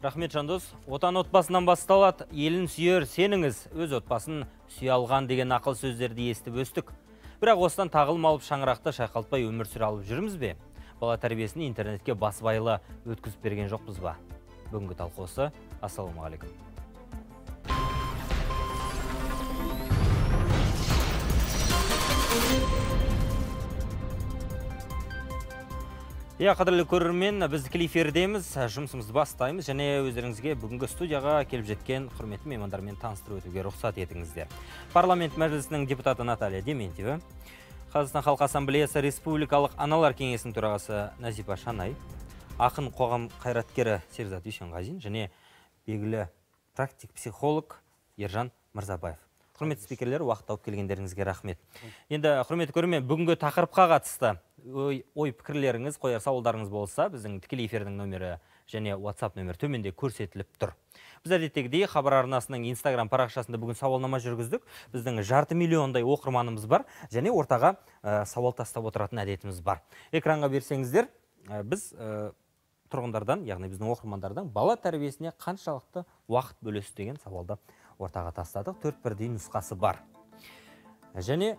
Рахмет Жандос. Отан отбасынан басталады, елін сүйер сеніңіз, өз отбасын сүйе алған деген ақыл сөздерді естіп өстік. Бірақ осыдан тағылым алып шаңырақты шайқалтпай өмір сүре алып жүрміз бе? Бала тәрбиесін интернетке басбайлы өткізіп берген жоқпыз ба? Бүгінгі талқысы. Ассалаумағалейкум. Қадірлі көрермен, біз тікелей эфирдеміз, жұмысымызды бастаймыз және өздеріңізге бүгінгі студияға келіп жеткен құрметті меймандармен таныстырып өтуге рұқсат етіңіздер. Парламент мәжілісінің депутаты Наталья Дементьева, Қазақстан Халқы Ассамблеясы Республикалық аналар кеңесінің төрағасы Назипа Шанай, ақын қоғам қайраткері Серзат Дүйсенғазин және белгілі практик психолог Ержан Мырзабаев. Құрметті спикерлер, уақыт тауып келгендеріңізге рахмет. Енді құрметті көрермен, бүгінгі тақырыпқа қатысты ой пікірлеріңіз, қояр сауалдарыңыз болса, біздің тікелей эфирдің нөмірі және WhatsApp нөмірі төменде көрсетіліп тұр. Біз әдеттегідей хабар арнасының Instagram парақшасында бүгін сауалнама жүргіздік. Біздің 500 миллиондай оқырманымыз бар және ортаға сауал тастап отыратын әдетіміз бар. Экранға берсеңіздер, біз тұрғындардан, яғни біздің оқырмандардан бала тәрбиесіне қаншалықты уақыт бөлесіз деген сауалды ортаға тастадық. 4 бірдей нұсқасы бар. Және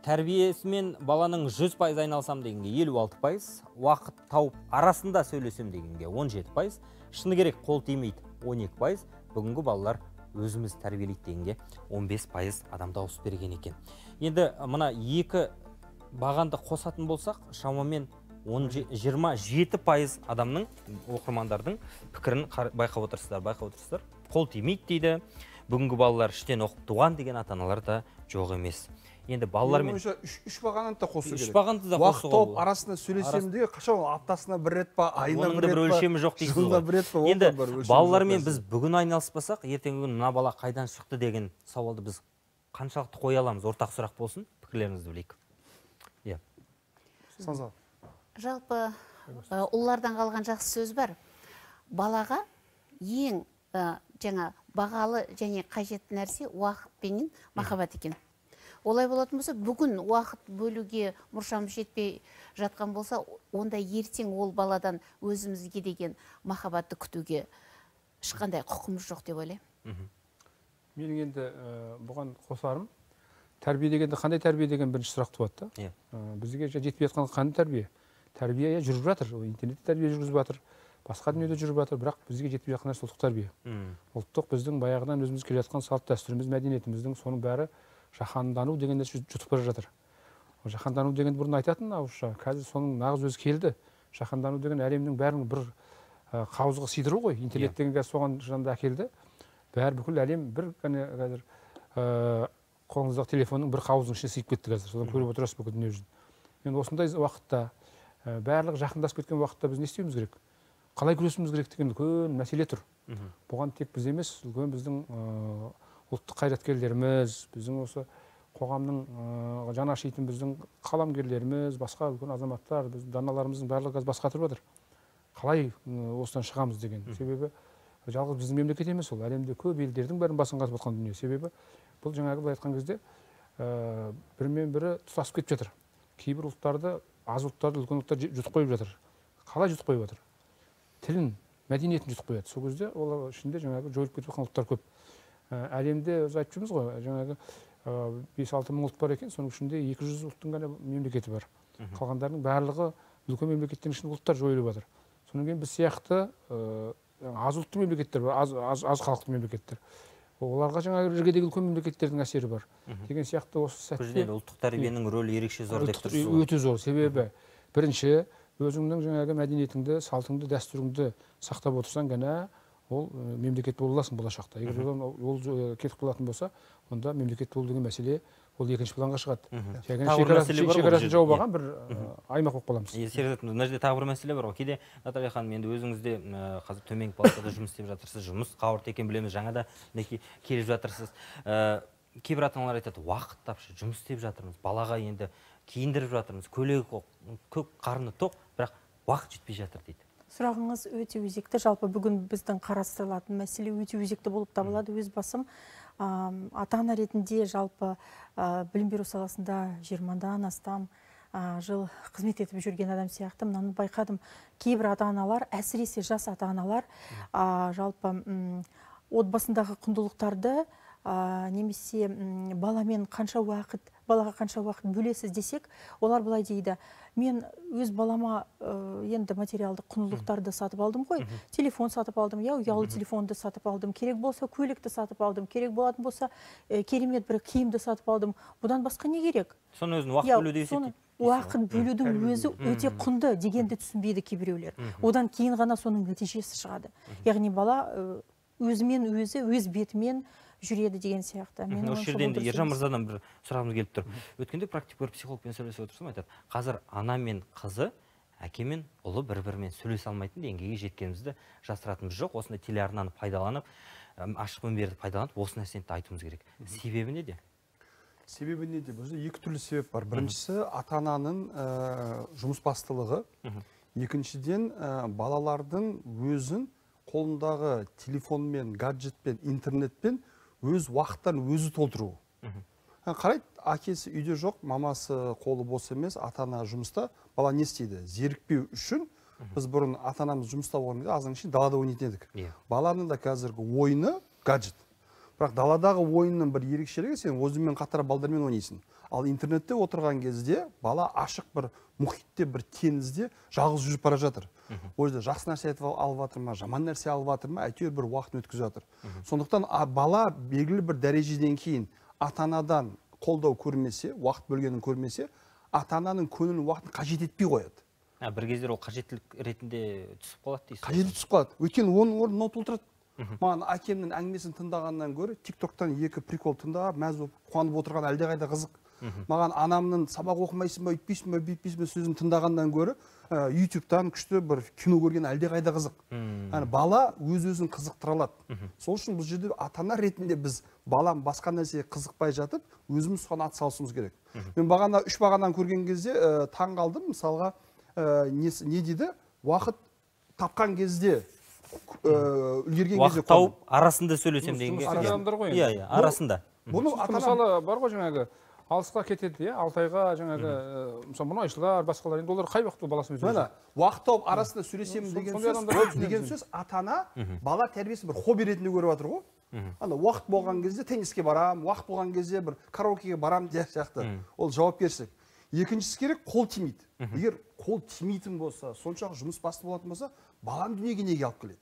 тәрбиесімен баланың 100% айналсам дегенге 56%, уақыт тауып арасында сөйлесем дегенге 17%, шыны керек қол тимейді 12%, бүгінгі балалар өзіміз тәрбиелейді дегенге 15% адам дауыс берген екен. Енді мына екі бағанды қосатын болсақ, шамамен 27% адамның, оқырмандардың пікірін байқап отырсыздар. Қол тимейді дейді. Бүгінгі балалар іштен оқып туған деген ата-аналар да жоқ емес. Енді балалармен үш бағанды да қосу керек. Уақыт тауып арасында сөйлесем де, қашан аптасына бір рет па, айына бір рет па, өлшемі жоқ дейсіз ғой. Енді балалармен біз бүгін айналыспасақ, ертеңгі күні мына бала қайдан шықты деген сауалды біз қаншалықты қоя аламыз? Ортақ сұрақ болсын, пікірлеріңізді білейік. Жалпы ұллардан қалған жақсы сөз бар. Балаға ең жаңа бағалы және қажетті нәрсе уақыт пенен махаббат екен. Олай болатын болса, бүгін уақыт бөлуге мұршамыз жетпей жатқан болса, онда ертең ол баладан өзімізге деген махаббатты күтуге ешқандай құқымыз жоқ деп ойлаймын. Менің енді бұған қосарым, тәрбие дегенде қандай тәрбие деген бірінші сұрақ туады да. Бізге жетпей жатқан қандай тәрбие? Тәрбие жүріп жатыр, интернетте тәрбие жүргізіп жатыр, басқа дүниеде жүріп жатыр, бірақ бізге жетпей жатқан нәрсе ұлттық тәрбие. Ұлттық біздің баяғыдан өзіміз келе жатқан салт дәстүріміз, мәдениетіміздің соның бәрі жаһандану деген нәрсе жұтып бара жатыр. Жаһандану дегенді бұрын айтатын ауызша, қазір соның нағыз өзі келді. Жаһандану деген әлемнің бәрін бір қауызға сыйдыру ғой. Интернет деген қазір соған жанында әкелді. Бәрі бүкіл әлем бір қазір қолыңыздағы телефонның бір қауыздың ішіне сыйып кетті қазір. Содан көріп отырасыз бүкіл дүние жүзін. Енді осындай уақытта, барлығы жақындасып кеткен уақытта біз не істеуіміз керек? Қалай күресуіміз керек деген үлкен мәселе тұр. Бұған тек біз емес, үлкен біздің ұлттық қайраткерлеріміз, біздің осы қоғамның жаны ашитын біздің қаламгерлеріміз, басқа үлкен азаматтар, біздің даналарымыздың барлығы бас қатырып жатыр. Қалай осыдан шығамыз деген. Себебі жалғыз біздің мемлекет емес ол, әлемде көп елдердің бәрін басын қатырып жатқан дүние. Себебі бұл жаңағы былай айтқан кезде бірімен бірі тұтасып кетіп жатыр. Кейбір ұлттарды, аз ұлттарды үлкен ұлттар жұтып қойып жатыр. Қалай жұтып қойып жатыр? Тілін, мәдениетін жұтып қояды. Сол кезде олар ішінде жаңағы жойылып кетіп жатқан ұлттар көп. Әлемде біз айтып жүрміз ғой, жаңағы 5-6 мың ұлт бар екен, соның ішінде 200 ұлттың ғана мемлекеті бар. Қалғандарының барлығы үлкен мемлекеттің ішінде ұлттар жойылып жатыр. Содан кейін біз сияқты аз ұлтты мемлекеттер бар, аз халықты мемлекеттер. Оларға жаңағы іргедегі үлкен мемлекеттердің әсері бар. Деген сияқты осы сәтте ұлттық тәрбиенің рөлі ерекше зор деп тұрсыз. Өте зор. Себебі бірінші өзіңнің жаңағы мәдениетіңді, салтыңды, дәстүріңді сақтап отырсаң ғана ол мемлекет бола аласың болашақта. Егер ол кетіп қалатын болса, онда мемлекет болу деген мәселе ол екінші планға шығады. Шекарасын жауып алған бір аймақ болып қаламыз. Серзат, мына жерде тағы бір мәселе бар ғой. Кейде Наталья ханым, енді өзіңізде қазір төменгі палатада жұмыс істеп жатырсыз, жұмыс қауырт екен білеміз, жаңада келіп жатырсыз. Кейбір ата-аналар айтады, уақыт тапшы, жұмыс істеп жатырмыз, балаға енді киіндіріп жатырмыз, көйлегі көк, қарны тоқ, бірақ уақыт жетпей жатыр дейді. Сұрағыңыз өте өзекті. Жалпы бүгін біздің қарастырылатын мәселе өте өзекті болып табылады. Өз басым ата-ана ретінде жалпы білім беру саласында 20-дан астам жыл қызмет етіп жүрген адам сияқты мынаны байқадым. Кейбір ата-аналар, әсіресе жас ата-аналар жалпы отбасындағы құндылықтарды немесе балаға қанша уақыт бөлесіз десек, олар былай дейді: мен өз балама енді материалдық құндылықтарды сатып алдым ғой, телефон сатып алдым, ұялы телефонды сатып алдым, керек болса көлікті сатып алдым, керек болатын болса керемет бір киімді сатып алдым. Бұдан басқа не керек? Соны өзін уақыт бөлуді есептейді. Уақыт бөлудің өзі өте құнды дегенді түсінбейді кейбіреулер. Одан кейін ғана соның нәтижесі шығады. Яғни бала өзімен өзі, өз бетімен жүреді деген сияқты. Осы жерде енді Ержан мырзадан бір сұрағымыз келіп тұр. Өткенде практикер психологпен сөйлесіп отырсам айтады: қазір ана мен қызы, әке мен ұлы бір-бірімен сөйлесе алмайтын деңгейге жеткенімізді жасыратынымыз жоқ. Осындай телеарнаны пайдаланып, ашық мінберді пайдаланып, осы нәрсені айтуымыз керек. Себебі неде? Себебі неде? Бұл жерде екі түрлі себеп бар. Біріншісі ата-ананың жұмыс бастылығы. Екіншіден балалардың өзін қолындағы телефонмен, гаджетпен, интернетпен өз уақыттарын өзі толтыру. Қарайды, әкесі үйде жоқ, мамасы қолы бос емес, ата-ана жұмыста. Бала не істейді? Зерікпеу үшін біз бұрын ата-анамыз жұмыста болғанда аздан кейін далада ойнайтын едік. Баланың да қазіргі ойыны гаджет. Бірақ даладағы ойынның бір ерекшелігі, сен өзіңмен қатар балдармен ойнайсың. Ал интернетте отырған кезде бала ашық бір мұхитте, бір теңізде жалғыз жүріп бара жатыр. Ол жерде жақсы нәрсе алып жатыр ма, жаман нәрсе алып жатыр ма, әйтеуір бір уақытын өткізіп жатыр. Сондықтан бала белгілі бір дәрежеден кейін ата-анадан қолдау көрмесе, уақыт бөлгенін көрмесе, ата-ананың көңілін уақытын қажет етпей қояды. Бір кездер ол қажеттілік ретінде түсіп қалады дейсіз. Қажеті түсіп қалады. Өйткені оның орнын толтырады. Маған әкемнің әңгімесін тыңдағаннан гөрі тиктоктан екі прикол тыңдап, мәз болып қуанып отырған әлдеқайда қызық. Маған анамның сабақ оқымайсың ба, үйтпейсің ба, бүйтпейсің ба сөзін тыңдағаннан гөрі ютубтан күшті бір кино көрген әлдеқайда қызық. Бала өз-өзін қызықтыра алады. Сол үшін бұл жерде ата-ана ретінде біз балам басқа нәрсеге қызықпай жатып, өзіміз соған атсалысуымыз керек. Мен бағана 3 бағанадан көрген кезде таң қалдым. Мысалға не дейді? Уақыт тапқан кезде үлгерген кезде уақыт тауып арасында сөйлесем деген кезде. Арасында. Бұны мысалы бар ғой жаңағы алысқа кетеді, 6 айға жаңағы мұнайшылар, басқалар, енді олар қай уақытта баласымен сөйлеседі? Уақыт тауып арасында сөйлесемін деген сөз ата-ана бала тәрбиесін бір хобби ретінде көріп жатыр ғой. Уақыт болған кезде тенниске барам, уақыт болған кезде бір караокеге барам деген сияқты. Ол жауапкершілік. Екіншісі керек, қол тимейді. Егер қол тимейтін болса, соншалық жұмыс басты болатын болса, баланы дүниеге неге алып келеді?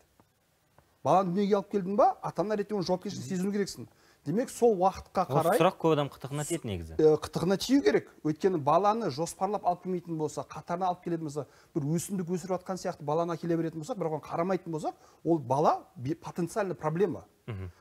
Баланы дүниеге алып келдің ба, ата-ана ретінде оны жауапкершілік сезіну керексің. Демек, сол уақытқа қарай... Сұрақ көп адам қытығына тиеді негізі. Қытығына тию керек. Өйткені баланы жоспарлап алып келмейтін болса, қатарына алып келетін болса, бір өсімдік өсіріп жатқан сияқты баланы әкеле беретін болсақ, бірақ оған қарамайтын болсақ, ол бала потенциальный проблема.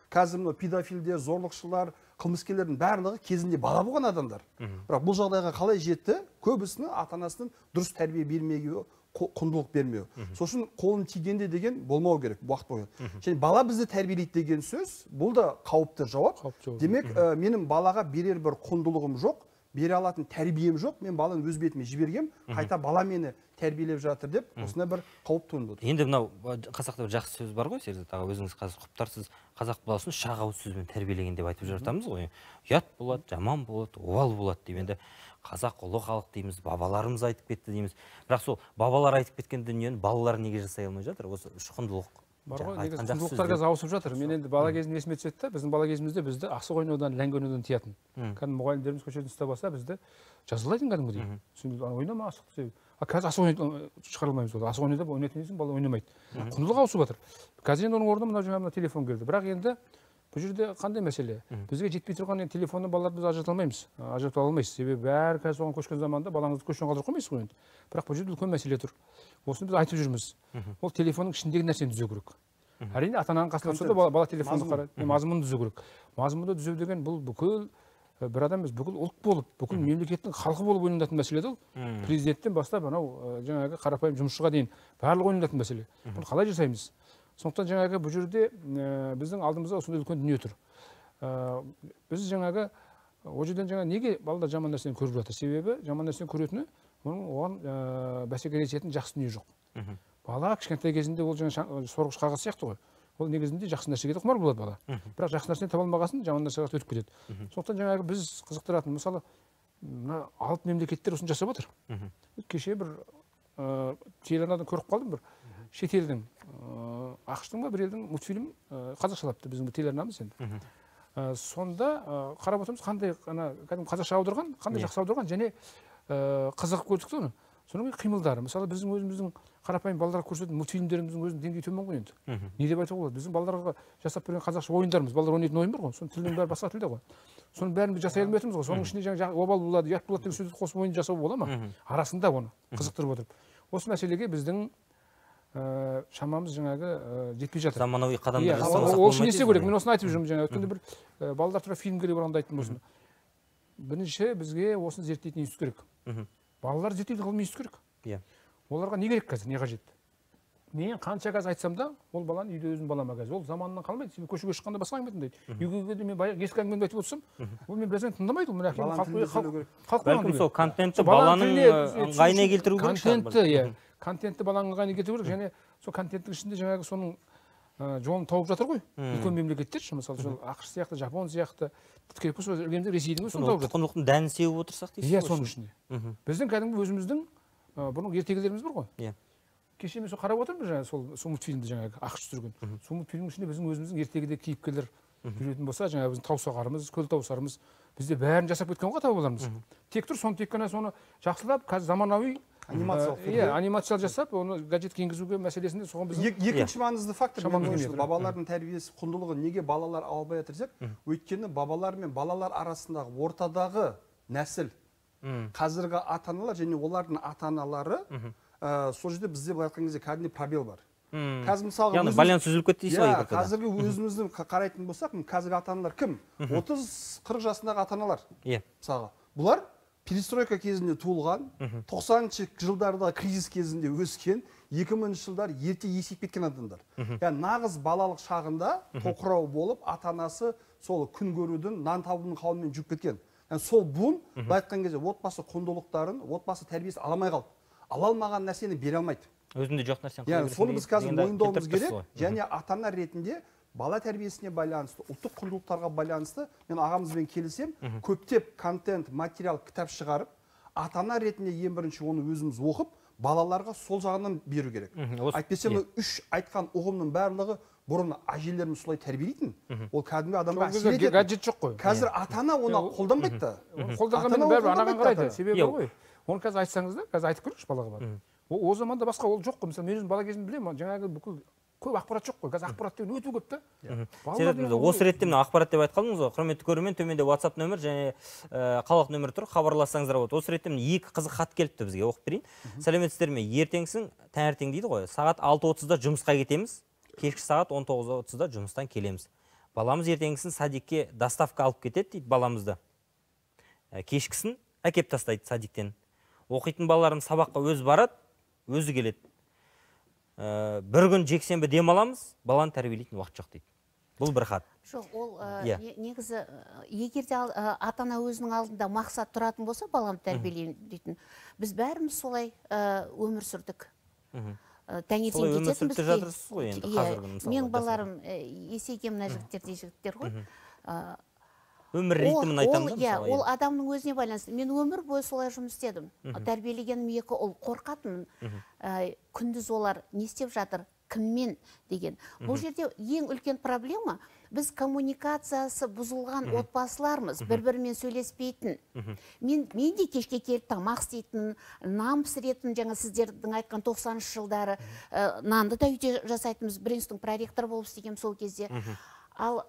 Қазір педофилдер, зорлықшылар, қылмыскерлердің барлығы кезінде бала болған адамдар. Бірақ бұл жағдайға қалай жетті? Көбісінің ата-анасының дұрыс тәрбие бермеуі, құндылық бермеу. Сосын қолын тигенде деген болмау керек уақыт бойы. Және бала бізді тәрбиелейді деген сөз, бұл да қауіпті жауап. Демек, менің балаға берер бір құндылығым жоқ, бере алатын тәрбием жоқ, мен баланы өз бетіме жібергем, қайта бала мені тәрбиелеп жатыр деп, осындай бір қауіп туындап отыр. Енді мынау қазақта бір жақсы сөз бар ғой, Серзат аға, өзіңіз қазір құптарсыз, қазақ баласын үш ақ ауыз сөзбен тәрбиелеген деп айтып жатамыз ғой. Ұят болады, жаман болады, обал болады деп. Енді қазақ ұлы халық дейміз, бабаларымыз айтып кетті дейміз. Бірақ сол бабалар айтып кеткен дүниені балалар неге жасай алмай жатыр? Осы үш құндылық. Бар ғой, негізі құндылықтар қазір ауысып жатыр. Мен енді бала кезім есіме түседі, біздің бала кезімізде бізді асық ойнаудан, ләңгі ойнаудан тиятын. Кәдімгі мұғалімдеріміз көшеден ұстап алса, бізді жазалайтын кәдімгідей. Ойнама асықты. Қазір асық ойнаудан шығара алмаймыз. Асық ойнап ойнайтын дейсің, бала ойнамайды. Құндылық ауысып жатыр. Қазір енді оның орнына мына жаңағы телефон келді. Бірақ енді бұл жерде қандай мәселе? Бізге жетпей тұрған телефонны балаларды біз ажырата алмаймыз. Ажырата алмайсыз. Себебі бәрі қазір соған көшкен заманда балаңызды көштен қалдырып қоймайсыз ғой енді. Бірақ бұл жерде үлкен мәселе тұр. Осыны біз айтып жүрміз. Ол телефонның ішіндегі нәрсені түзеу керек. Әрине ата-ананың қасында тұрса да бала телефонды қарайды. Мазмұнды түзеу керек. Мазмұнды түзеу деген бұл бүкіл бір адам емес, бүкіл ұлт болып, бүкіл мемлекеттің халқы болып ойналатын мәселе ол. Президенттен бастап анау жаңағы қарапайым жұмысшыға дейін барлығы ойналатын мәселе. Бұны қалай жасаймыз? Сондықтан жаңағы бұл жерде біздің алдымызда осындай үлкен дүние тұр. Біз жаңағы ол жерден жаңа неге балалар жаман нәрсені көріп жатыр? Себебі жаман нәрсені көретіні оған бәсекелесетін жақсы дүние жоқ. Бала кішкентай кезінде ол жаңа сорғыш қағаз сияқты ғой. Ол негізінде жақсы нәрсеге де құмар болады бала. Бірақ жақсы нәрсені таба алмағасын жаман нәрсеге өтіп кетеді. Сондықтан жаңағы біз қызықтыратын, мысалы, мына алып мемлекеттер осыны жасап отыр. Кеше бір телеарнадан көріп қалдым, бір шетелдің ақш-тың ба бір елдің мультфильм қазақшалапты, біздің телеарнамыз енді. Сонда қарап отырмыз, қандай кәдімгі қазақша аударған, қандай жақсы аударған, және қызығып көрдік оны. Соның қимылдары, мысалы біздің өзіміздің қарапайым балаларға көрсететін мультфильмдеріміздің өзінің деңгейі төмен ғой енді. Не деп айтуға болады? Біздің балаларға жасап берген қазақша ойындарымыз, балалар ойнайтын ойын бар ғой, соның тілінің бәрі басқа тілде ғой. Соның бәрін біз жасай алмай отырмыз ғой. Соның ішінде жаңағы обал болады, ұят болады деген сөзді қосып ойын жасау бола ма? Арасында оны қызықтырып отырып. Осы мәселеге біздің шамамыз жаңағы жетпей жатыр. Заманауи қадамдар жасамасақ болмайды. Ол үшін не істеу керек? Мен осыны айтып жүрмін жаңа. Өткенде бір балалар туралы фильм керек болғанда айттым осыны. Бірінші бізге осыны зерттейтін институт керек. Балалар зерттейтін ғылыми институт керек. Оларға не керек қазір, не қажет? Мен қанша қазір айтсам да, ол баланы үйде өзім балама қазір. Ол заманынан қалмайды. Сен көшеге шыққанда басқа әңгіме тыңдайды. Үйге келгенде мен ескі әңгімені айтып отырсам, ол мен біраздан тыңдамайды. Ол мен бәлкім сол контентті баланың ыңғайына келтіру керек. Контентті баланың ыңғайына келтіру керек, және сол контенттің ішінде жаңағы соның жолын тауып жатыр ғой. Үлкен мемлекеттер, мысалы сол ақш сияқты, жапон сияқты, керек болса ресейдің өзі соны тауып жатыр. Тұтқындылықтың дәнін сеуіп отырсақ дейсіз ғой. Иә, соның ішінде. Біздің кәдімгі өзіміздің бұрын ертегілеріміз бар ғой. Кеше мен сол қарап отырмын жаңағы сол мультфильмді жаңағы ақш түсірген. Сол мультфильмнің ішінде біздің өзіміздің ертегіде кейіпкерлер жүретін болса, жаңағы біздің таусағарымыз, көл таусарымыз, бізде бәрін жасап кеткен ғой тауып тек тұр, соны тек қана соны жақсылап, қазір заманауи анимациялар жасап, оны гаджетке енгізуге мәселесінде соған біз екінші маңызды фактор бабалардың тәрбиесі құндылығы неге балалар албай жатыр десек, өйткені бабалар мен балалар арасындағы ортадағы нәсіл қазіргі ата-аналар және олардың ата-аналары сол жерде бізде былай айтқан кезде кәдімгідей пробел бар. Қазір мысалға яғни байланыс үзіліп кетті дейсіз ғой. Қазіргі өзімізді қарайтын болсақ, қазіргі ата-аналар кім? 30-40 жасындағы ата-аналар. Мысалға, бұлар перестройка кезінде туылған, 90-шы жылдардағы кризис кезінде өскен, 2000-ші жылдар ерте есейіп кеткен адамдар. Яғни нағыз балалық шағында тоқырау болып, ата-анасы сол күн көрудің, нан табудың қауымымен жүріп кеткен. Сол буын былай айтқан кезде отбасы құндылықтарын, отбасы тәрбиесін ала алмай қалды. Ала алмаған нәрсені бере алмайды. Өзінде жоқ нәрсені. Яғни соны біз қазір мойындауымыз керек, және ата-ана ретінде бала тәрбиесіне байланысты, ұлттық құндылықтарға байланысты мен ағамызбен келісем, көптеп контент, материал, кітап шығарып, ата-ана ретінде ең бірінші оны өзіміз оқып, балаларға сол жағынан беру керек. Әйтпесе үш айтқан ұғымның барлығы бұрын әжелеріміз солай тәрбиелейтін. Ол кәдімгі адамға әсер етеді. Гаджет жоқ қой. Қазір ата-ана оны қолданбайды да. Қолданғанмен бәрібір анаған қарайды. Себебі ғой. Оны қазір айтсаңыз да, қазір айтып көріңізші балаға барып. О заманда басқа ол жоқ қой. Мысалы мен өзім бала кезімде білемін, жаңағы бүкіл көп ақпарат жоқ қой. Қазір ақпарат деген өте көп та. Осы ретте мына ақпарат деп айтқаныңыз ғой. Құрметті көрермен, төменде WhatsApp нөмір және қалалық нөмір тұр. Хабарлассаңыздар болады. Осы ретте екі қызық хат келіпті бізге, оқып берейін. Сәлеметсіздер ме? Ертеңсің, таңертең дейді ғой. Сағат 6:30-да жұмысқа кетеміз. Кешкі сағат 19:30-да жұмыстан келеміз. Баламыз ертеңгісін садикке доставка алып кетеді дейді баламызды. Кешкісін әкеп тастайды садиктен. Оқитын балаларым сабаққа өзі барады, өзі келеді. Бір күн жексенбі демаламыз, баланы тәрбиелейтін уақыт жоқ дейді. Бұл бір хат. Жоқ, ол негізі егерде ата-ана өзінің алдында мақсат тұратын болса, баланы тәрбиелейін дейтін. Біз бәріміз солай өмір сүрдік. Таңертең кететінбіз. Мен балаларым есейген мына жігіттер ғой. Өмір ритмін айтамын да. Ол адамның өзіне байланысты. Мен өмір бойы солай жұмыс істедім. Тәрбиелегенім екі ұл, қорқатынмын. Күндіз олар не істеп жатыр, кіммен деген. Бұл жерде ең үлкен проблема, біз коммуникациясы бұзылған отбасылармыз, бір-бірімен сөйлеспейтін. Мен де кешке келіп тамақ істейтін, нан пісіретін, жаңа сіздердің айтқан 90-шы жылдары нанды да үйде жасайтынбыз. Бринстің проректор болып істегем сол кезде. Ал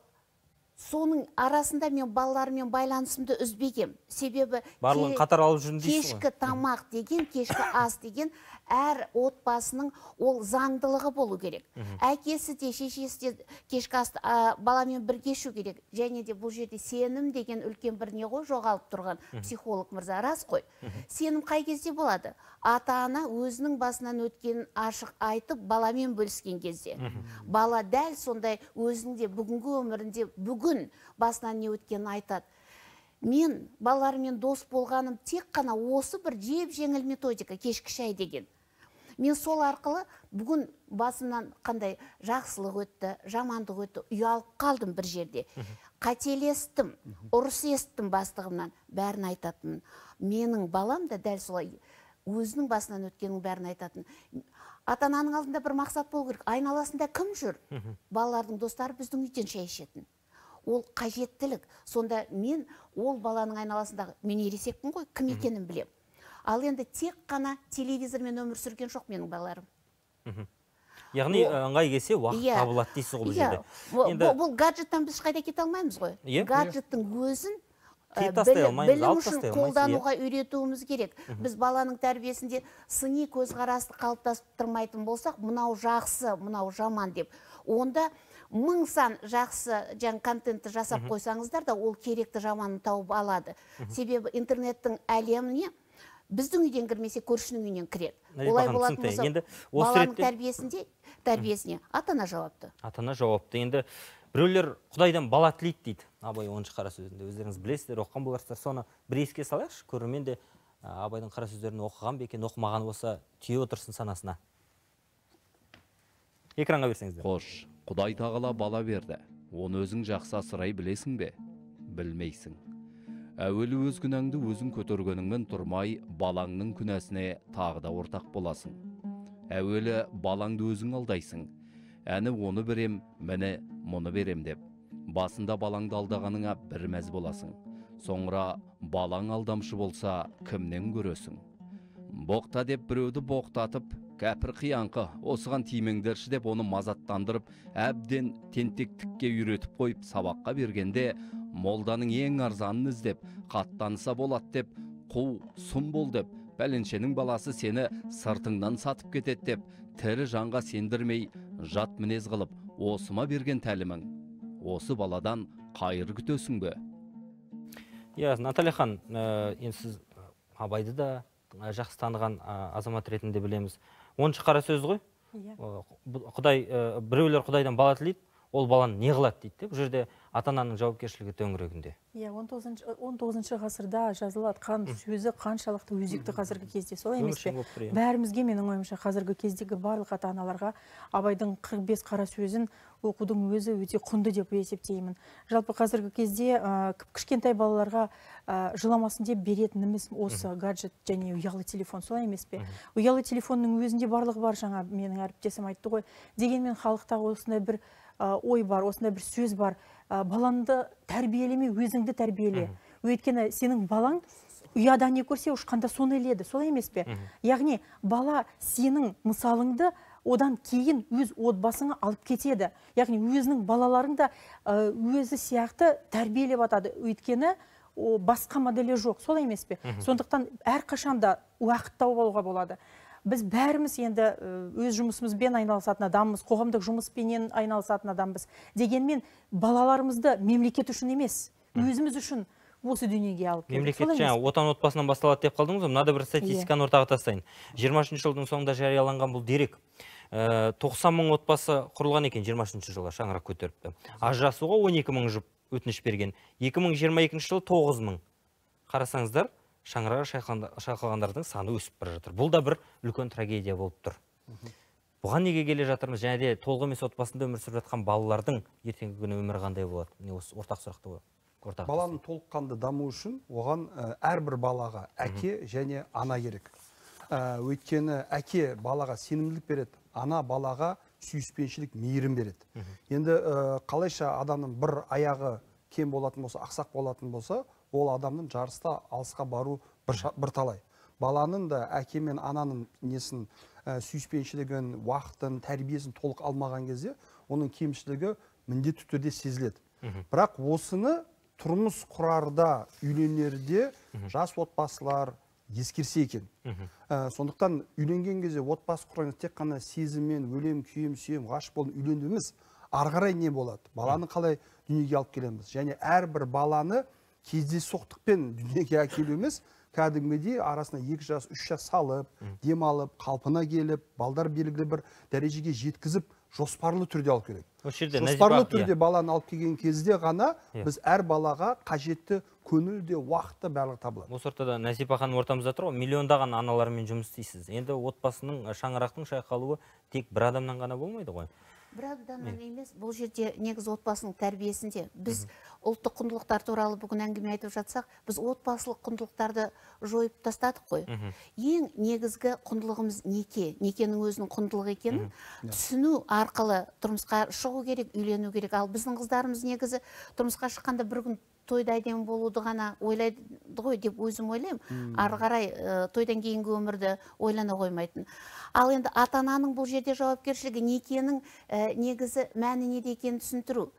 соның арасында мен балалармен байланысымды үзбегем. Себебі барлығын қатар алып жүрін дейсіз ғой. Кешкі тамақ деген, кешкі ас деген әр отбасының ол заңдылығы болу керек. Әкесі де, шешесі де кешкі асты баламен бірге ішу керек. Және де бұл жерде сенім деген үлкен бір не ғой жоғалып тұрған психолог мырза, рас қой. Сенім қай кезде болады? Ата-ана өзінің басынан өткен ашық айтып, баламен бөліскен кезде. Бала дәл сондай өзінің де бүгінгі өмірінде бүгін басынан не өткенін айтады. Мен балалармен дос болғаным тек қана осы бір жеп-жеңіл методика, кешкі шай деген. Мен сол арқылы бүгін басымнан қандай жақсылық өтті, жамандық өтті, ұялып қалдым бір жерде. Қателестім, ұрыс естім бастығымнан, бәрін айтатын. Менің балам да дәл солай өзінің басынан өткенің бәрін айтатын. Ата-ананың алдында бір мақсат болу керек. Айналасында кім жүр? Балалардың достары біздің үйден шай ішетін. Ол қажеттілік. Сонда мен ол баланың айналасындағы, мен ересекпін ғой, кім екенін білем. Ал енді тек қана телевизормен өмір сүрген жоқ менің балаларым. Яғни ыңғай келсе уақыт табылады дейсіз ғой бұл жерде. Бұл гаджеттан біз қайда кете алмаймыз ғой. Гаджеттің өзін білім үшін қолдануға үйретуіміз керек. Біз баланың тәрбиесінде сыни көзқарасты қалыптастырмайтын болсақ, мынау жақсы, мынау жаман деп. Онда мың сан жақсы контентті жасап қойсаңыздар да, ол керекті жаманын тауып алады. Себебі интернеттің әлеміне біздің үйден кірмесе, көршінің үйінен кіреді. Олай болатын болса, баланың тәрбиесіне ата-ана жауапты. Ата-ана жауапты. Енді біреулер Құдайдан бала тілейді дейді. Абай 10-шы қара сөзінде. Өздеріңіз білесіздер, оқыған боларсыздар. Соны бір еске салайықшы, көрермен де Абайдың қара сөздерін оқыған ба екен, оқымаған болса, түйе отырсын санасына. Экранға берсеңіздер. Қош, Құдай тағала бала берді. Оны өзің жақсы асырай білесің бе? Білмейсің. Әуелі өз күнәңді өзің көтергеніңмен тұрмай, балаңның күнәсіне тағы да ортақ боласың. Әуелі балаңды өзің алдайсың. Әні оны берем, мені мұны берем деп. Басында балаңды алдағаныңа бір мәз боласың. Соңыра балаң алдамшы болса, кімнен көресің? Боқта деп біреуді боқтатып, кәпір қиянқы, осыған тимеңдерші деп оны мазаттандырып, әбден тентектікке үйретіп қойып сабаққа бергенде, молданың ең арзанын іздеп, қаттаныса болады деп, қу, сұм бол деп, бәленшенің баласы сені сыртыңнан сатып кетеді деп, тірі жанға сендірмей, жат мінез қылып, осыма берген тәлімің. Осы баладан қайыр күтесің бе? Наталья хан, енді сіз Абайды да жақсы таныған азамат ретінде білеміз. 10-шы қара сөз ғой? Біреулер Құдайдан бала тілейді, ол баланы не қылады дейді. Бұл жерде ата-ананың жауапкершілігі төңірегінде. 19 ғасырда жазылатқан сөзі қаншалықты өзекті қазіргі кезде, солай емес пе? Бәрімізге, менің ойымша, қазіргі кездегі барлық ата-аналарға Абайдың 45 қара сөзін оқудың өзі өте құнды деп есептеймін. Жалпы қазіргі кезде кішкентай балаларға жыламасын деп беретініміз осы гаджет және ұялы телефон, солай емес пе? Ұялы телефонның өзінде барлығы бар, жаңа менің әріптесім айтты ғой. Дегенмен халықтағы осындай бір ой бар, осындай бір сөз бар. Балаңды тәрбиелеме, өзіңді тәрбиеле. Өйткені сенің балаң ұяда не көрсе, ұшқанда соны іледі, солай емес пе? Яғни бала сенің мысалыңды одан кейін өз отбасыңа алып кетеді. Яғни өзінің балаларың да өзі сияқты тәрбиелеп атады. Өйткені басқа моделі жоқ, солай емес пе? Сондықтан әрқашанда уақыт тауып алуға болады. Біз бәріміз енді өз жұмысымызбен айналысатын адамбыз, қоғамдық жұмыспенен айналысатын адамбыз. Дегенмен балаларымызды мемлекет үшін емес, өзіміз үшін осы дүниеге алып келдік. Мемлекет жаңа отан отбасынан басталады деп қалдыңыз, мынада бір статистиканы ортаға тастайын. 23 жылдың соңында жарияланған бұл дерек. 90 мың отбасы құрылған екен 23 жылға, шаңырақ көтеріпті. Ажырасуға 12 мың жұп өтініш берген. 2022 жылы 9 мың. Қарасаңыздар, шаңырағы шайқалғандардың саны өсіп бара жатыр. Бұл да бір үлкен трагедия болып тұр. Бұған неге келе жатырмыз? Және де толық емес отбасында өмір сүріп жатқан балалардың ертеңгі күні өмірі қандай болады? Міне осы ортақ сұрақты ортақ. Баланың толыққанды даму үшін оған әрбір балаға әке және ана керек. Өйткені әке балаға сенімділік береді, ана балаға сүйіспеншілік, мейірім береді. Енді қалайша адамның бір аяғы кем болатын болса, ақсақ болатын болса, ол адамның жарыста алысқа бару бір талай. Баланың да әке мен ананың несін сүйіспеншілігін, уақытын, тәрбиесін толық алмаған кезде, оның кемшілігі міндетті түрде сезіледі. Бірақ осыны тұрмыс құрарда, үйленерде жас отбасылар ескерсе екен. Сондықтан үйленген кезде отбасы құраңыз тек қана сезіммен, өлем, күйем, сүйем, ғашық болып үйлендіңіз, ары қарай не болады? Баланы қалай дүниеге алып келеміз? Және әрбір баланы кездейсоқтықпен дүниеге әкелу емес, кәдімгідей арасына 2 жас, 3 жас салып, демалып, қалпына келіп, балдар белгілі бір дәрежеге жеткізіп, жоспарлы түрде алып керек. Жоспарлы түрде баланы алып келген кезде ғана біз әр балаға қажетті көңіл де, уақыт та барлығы табылады. Осы ортада Насипа ханым ортамызда тұр ғой, миллиондаған аналармен жұмыс істейсіз. Енді отбасының шаңырақтың шайқалуы тек бір адамнан ғана болмайды ғой. Бір адамнан емес, бұл жерде негізі отбасының тәрбиесінде. Біз ұлттық құндылықтар туралы бүгін әңгіме айтып жатсақ, біз отбасылық құндылықтарды жойып тастадық қой. Ең негізгі құндылығымыз неке, некенің өзінің құндылығы екенін түсіну арқылы тұрмысқа шығу керек, үйлену керек. Ал біздің қыздарымыз негізі тұрмысқа шыққанда бір күн тойда әдемі болуды ғана ойлайды ғой деп өзім ойлаймын. Ары қарай тойдан кейінгі өмірді ойлана қоймайтын. Ал енді ата-ананың бұл жерде жауапкершілігі некенің негізі мәні неде екенін түсіндіру.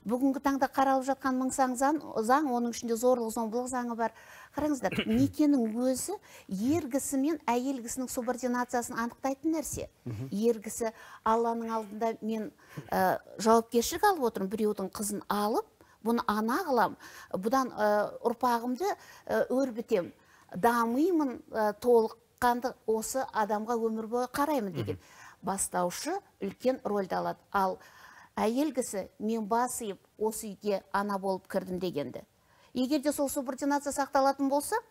Бүгінгі таңда қаралып жатқан мың сан заң, оның ішінде зорлық зомбылық заңы бар. Қараңыздар, некенің өзі ергісі мен әйелгісінің субординациясын анықтайтын нәрсе. Ергісі Алланың алдында мен жауапкершілік алып отырмын, біреудің қызын алып, бұны ана қылам, бұдан ұрпағымды өрбітем, дамимын, толыққанды осы адамға өмір бойы қараймын деген бастаушы үлкен рөлді алады. Ал әйелгісі мен басып осы үйге ана болып кірдім дегенді. Егер де сол субординация сақталатын болса,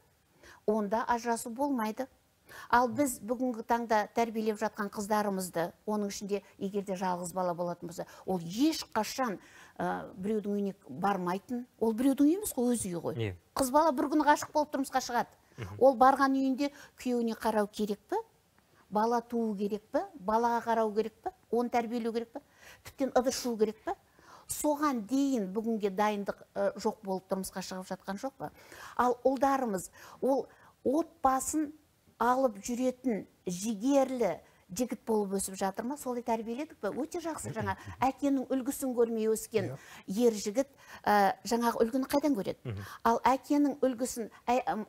онда ажырасу болмайды. Ал біз бүгінгі таңда тәрбиелеп жатқан қыздарымызды, оның ішінде егер де жалғыз бала болатын болса, ол ешқашан біреудің үйіне бармайтын. Ол біреудің үйі емес қой, өз үйі ғой. Қыз бала бір күні ғашық болып тұрмысқа шығады. Ол барған үйінде күйеуіне қарау керек пе? Бала туу керек пе? Балаға қарау керек пе? Оны тәрбиелеу керек пе? Тіптен ыдышу керек пе? Соған дейін бүгінге дайындық жоқ болып тұрмысқа шығып жатқан жоқ па? Ал ұлдарымыз, ол отбасын алып жүретін жігерлі жігіт болып өсіп жатыр ма? Солай тәрбиеледік пе? Өте жақсы. Жаңа әкенің үлгісін көрмей өскен ер жігіт жаңағы үлгіні қайдан көреді? Ал әкенің үлгісін,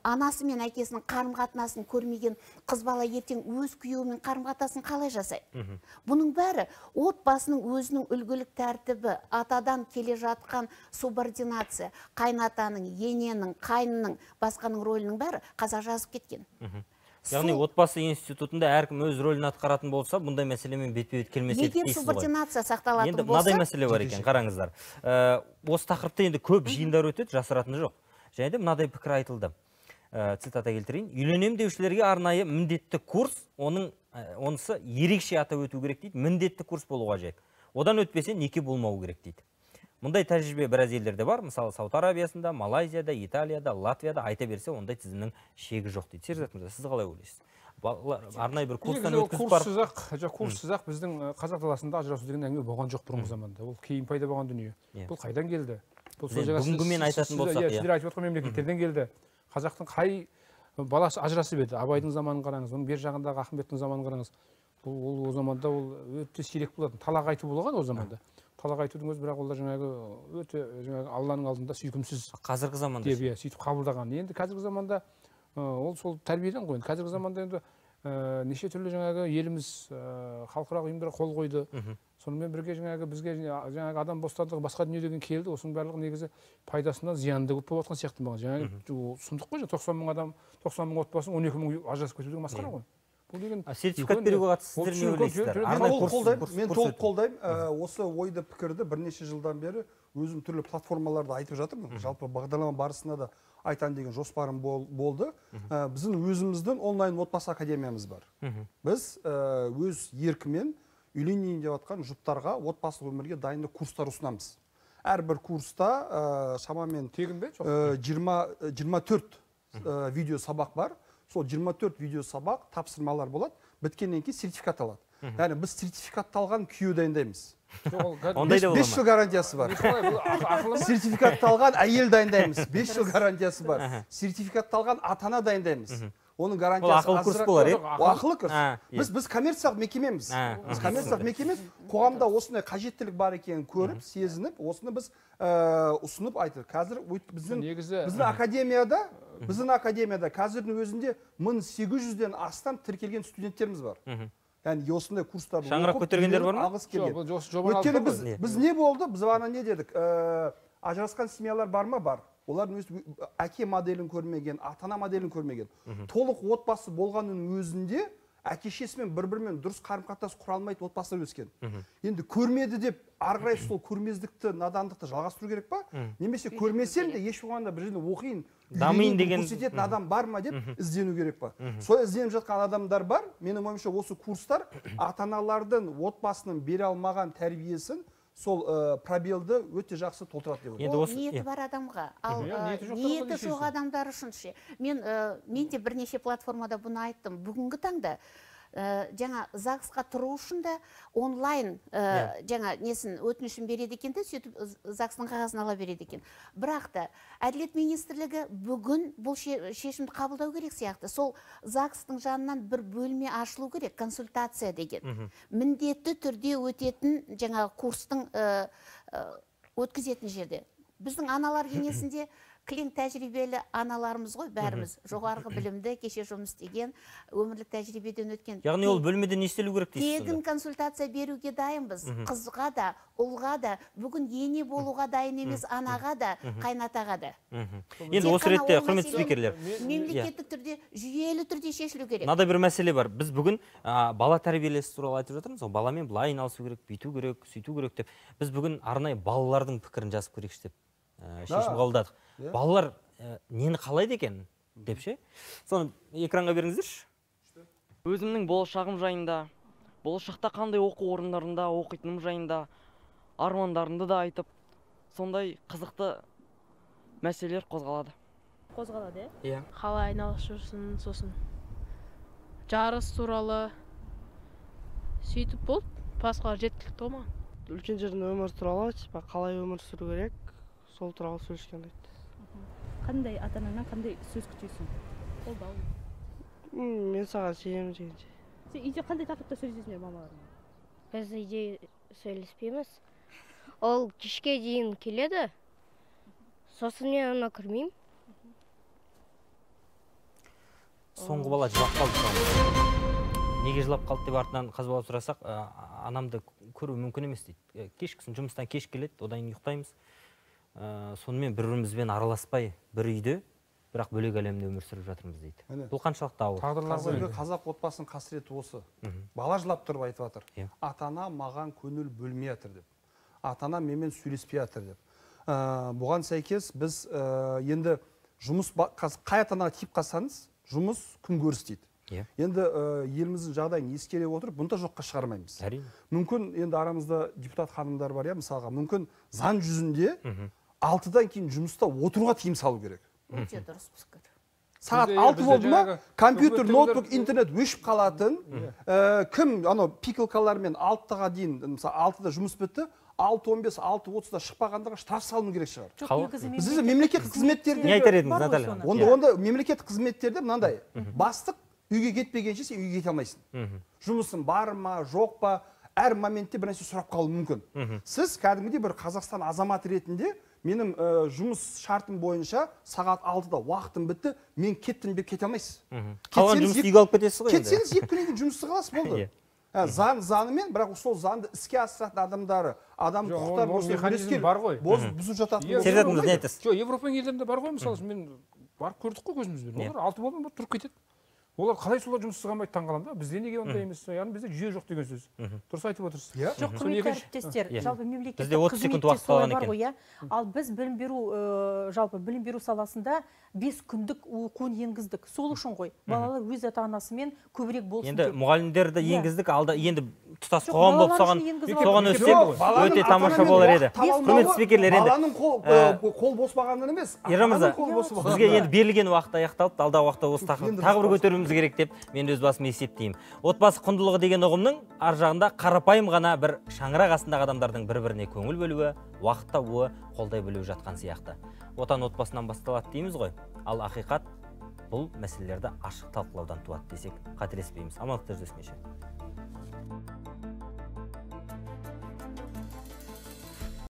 анасы мен әкесінің қарым-қатынасын көрмеген қыз бала ертең өз күйеуімен қарым-қатынасын қалай жасайды? Бұның бәрі отбасының өзінің үлгілік тәртібі, атадан келе жатқан субординация, қайнатаның, ененің, қайнының, басқаның рөлінің бәрі қазақ жазып кеткен. Яғни отбасы институтында әркім өз рөлін атқаратын болса, бұндай мәселемен бетпе-бет келмес еді дейсіз ғой. Егер субординация сақталатын болса... Енді мынадай мәселе бар екен, қараңыздар. Осы тақырыпта енді көп жиындар өтеді, жасыратыны жоқ. Және де мынадай пікір айтылды. Цитата келтірейін. Үйленем деушілерге арнайы міндетті курс, онысы ерекше атап өту керек дейді. Міндетті курс болуға қажет. Одан өтпесе неке болмау керек дейді. Мұндай тәжірибе біраз елдерде бар, мысалы Сауд Арабиясында, Малайзияда, Италияда, Латвияда айта берсе, ондай тізімнің шегі жоқ дейді. Серзат мырза, сіз қалай ойлайсыз? Арнайы бір курстан өткізіп барып... Курссыз-ақ біздің қазақ даласында ажырасу деген әңгіме болған жоқ бұрынғы заманда. Ол кейін пайда болған дүние. Бұл қайдан келді? Бүгінгімен айтатын болсақ, сіздер айтып отқан мемлекеттерден келді. Қазақтың қай баласы ажырасып еді? Абайдың заманын қараңыз, оның бер жағындағы Ахметтің заманын қараңыз. Ол заманда ол өте сирек болатын. Талақ айту болған ол заманда. Талақ айтудың өзі, бірақ олар жаңағы өте Алланың алдында сүйкімсіз. Қазіргі заманда сөйтіп қабылдаған. Енді қазіргі заманда ол сол тәрбиеден ғой. Қазіргі заманда енді неше түрлі жаңағы еліміз халықаралық ұйымдар қол қойды. Сонымен бірге жаңағы бізге жаңағы адам бостандығы басқа дүние деген келді. Осының барлығы негізі пайдасынан зиянды көп болып жатқан сияқты маған. Жаңағы сұмдық қой, 90 мың адам, 90 мың отбасы 12 мың ажырасып кету деген масқара ғой. Сертификат беруге қатысты сіздер не ойлайсыздар? Мен толық қолдаймын. Осы ойды пікірді бірнеше жылдан бері өзім түрлі платформаларда айтып жатырмын. Жалпы бағдарлама барысында да айтан деген жоспарым болды. Біздің өзіміздің онлайн отбасы академиямыз бар. Біз өз еркімен үйленейін деп жатқан жұптарға отбасылық өмірге дайындық курстар ұсынамыз. Әрбір курста шамамен тегін бе? 24 видео сабақ бар. Сол 24 видео сабақ тапсырмалар болады, біткеннен кейін сертификат алады. Яғни біз сертификатталған күйеу дайындаймыз. 5 жыл гарантиясы бар. Сертификатталған әйел дайындаймыз, 5 жыл гарантиясы бар. Сертификатталған ата-ана дайындаймыз. Оның гарантиясы ақылы курс болар, ақылы курс. Біз коммерциялық мекемеміз. Біз коммерциялық мекемеміз. Қоғамда осындай қажеттілік бар екенін көріп, сезініп, осыны біз ұсынып айтыр. Қазір біздің академияда қазірдің өзінде 1800-ден астам тіркелген студенттеріміз бар. Яғни осындай курстарды шаңырақ көтергендер бар ма? Өйткені біз не болды? Біз ғана не дедік? Ажырасқан семьялар бар ма? Бар. Олардың өз әке моделін көрмеген, ата-ана моделін көрмеген. Толық отбасы болғанның өзінде әке-шешесімен бір-бірімен дұрыс қарым-қатынас құра алмайтын отбасылар өскен. Енді көрмеді деп ары қарай сол көрмездікті, надандықты жалғастыру керек па? Немесе көрмесем де еш болғанда бір жерде оқиын, дамиын деген көрсететін адам бар ма деп іздену керек па? Сол ізденіп жатқан адамдар бар. Менің ойымша осы курстар ата-аналардың отбасының бере алмаған тәрбиесін, сол пробелді өте жақсы толтырады деп ойлаймын. Ол ниеті бар адамға, ал ниеті жоқ адамдар үшін ше. Мен де бірнеше платформада бұны айттым. Бүгінгі таңда жаңа ЗАГСқа тұру үшін де онлайн жаңа несін өтінішін береді екен де, сөйтіп ЗАГСтың қағазын ала береді екен. Бірақ та Әділет министрлігі бүгін бұл шешімді қабылдау керек сияқты. Сол ЗАГСтың жанынан бір бөлме ашылу керек, консультация деген. Міндетті түрде өтетін жаңа курстың өткізетін жерде. Біздің аналар кеңесінде кілең тәжірибелі аналарымыз ғой, бәріміз жоғарғы білімді, кеше жұмыс істеген, өмірлік тәжірибеден өткен. Яғни ол бөлмеде не істелу керек дейсіз? Тегін консультация беруге дайынбыз. Қызға да, ұлға да, бүгін ене болуға дайын емес, анаға да, қайнатаға да. Енді осы ретте құрметті спикерлер, мемлекеттік түрде, жүйелі түрде шешілу керек. Мынандай бір мәселе бар. Біз бүгін бала тәрбиелесі туралы айтып жатырмыз. Баламен былай айналысу керек, бүйту керек, сөйту керек деп. Біз бүгін арнайы балалардың пікірін жазып көрейікші деп шешім қабылдадық. Балалар нені қалайды екен деп ше? Соны экранға беріңіздерші. Өзімнің болашағым жайында, болашақта қандай оқу орындарында оқитыным жайында, армандарымды да айтып, сондай қызықты мәселелер қозғалады. Қозғалады, иә? Қалай айналысып жүрсің, сосын жарыс туралы сөйтіп болды, басқа жеткілікті болма. Үлкен жердің өмір туралы, қалай өмір сүру керек, сол туралы сөйлескен дейді. Қандай ата-анаңнан қандай сөз күтесің? Қолдау. Мен саған сенемін дегенше. Сен үйде қандай тақырыпта сөйлесесіңдер мамаларыңмен? Біз үйде сөйлеспейміз. Ол кешке дейін келеді. Сосын мен ona кірмеймін. Соңғы бала жылап қалды. Неге жылап қалды деп артынан қазбалап сұрасақ, анамды көру мүмкін емес дейді. Кешкісін жұмыстан кеш келеді, одан ұйықтаймыз. Сонымен бір-бірімізбен араласпай бір үйде, бірақ бөлек әлемде өмір сүріп жатырмыз дейді. Бұл қаншалықты ауыр? Қазіргі қазақ отбасының қасіреті осы. Бала жылап тұрып айтып жатыр. Ата-ана маған көңіл бөлмей жатыр деп. Ата-ана менімен сөйлеспей жатыр деп. Бұған сәйкес біз енді жұмыс қай ата-анаға тиіп қалсаңыз, жұмыс күнкөріс дейді. Енді еліміздің жағдайын ескере отырып, бұны да жоққа шығармаймыз. Мүмкін енді арамызда депутат ханымдар бар, мысалға, мүмкін заң жүзінде 6-дан кейін жұмыста отыруға тыйым салу керек. Өте дұрыс пікір. Сағат 6 болды ма, компьютер, ноутбук, интернет өшіп қалатын. Кім пикалкалармен 6-ға дейін, мысалы 6-да жұмыс бітті, 6:15, 6:30-да шықпағандарға штраф салыну керек шығар. Бізде мемлекеттік қызметтерде не айтар едіңіз, Наталья? Онда мемлекеттік қызметтерде мынандай, бастық үйге кетпегенше сен үйге кете алмайсың. Жұмысың бар ма, жоқ па, әр моментте бір нәрсе сұрап қалуы мүмкін. Сіз кәдімгідей бір Қазақстан азаматы ретінде менің жұмыс шартым бойынша сағат 6-да уақытым бітті, мен кеттім деп кете алмайсыз. Қалған жұмысты үйге алып кетесіз ғой енді. Кетсеңіз 2 күннен кейін жұмысты қаласыз, болды. Заңымен, бірақ сол заңды іске асыратын адамдары, адам құқықтар бұзып жататын. Серзатыңыз не айтасыз? Европаның елдерінде бар ғой, мысалы, мен барып көрдік қой көзімізбен. Олар 6 болмай тұрып кетеді. Олар қалай солар жұмыссыз қалмайды, таң қаламын да. Бізде неге ондай емес? Яғни бізде жүйе жоқ деген сөз. Дұрыс айтып отырсыз. Жоқ, құрметті әріптестер, жалпы мемлекеттік қызметте солай бар ғой, ал біз білім беру саласында 5 күндік оқуын енгіздік. Сол үшін ғой. Балалар өз ата-анасымен көбірек болсын деп. Енді мұғалімдерді енгіздік, алда енді тұтас қоғам болып соған өтсек өте тамаша болар еді. Құрметті спикерлер, енді баланың қол бос болғаннан емес, Ержан бізге енді берілген уақыт аяқталды, алдағы уақытта осы тақырыпты тағы бір көтеруіміз керек деп мен өз басым есептеймін. Отбасы құндылығы деген ұғымның ар жағында қарапайым ғана бір шаңырақ астындағы адамдардың бір-біріне көңіл бөлуі, уақыт табуы, қолдай білуі жатқан сияқты. Отан отбасынан басталады дейміз ғой. Ал ақиқат бұл мәселелерді ашық талқылаудан туады десек қателеспейміз. Амандықта жүздескенше.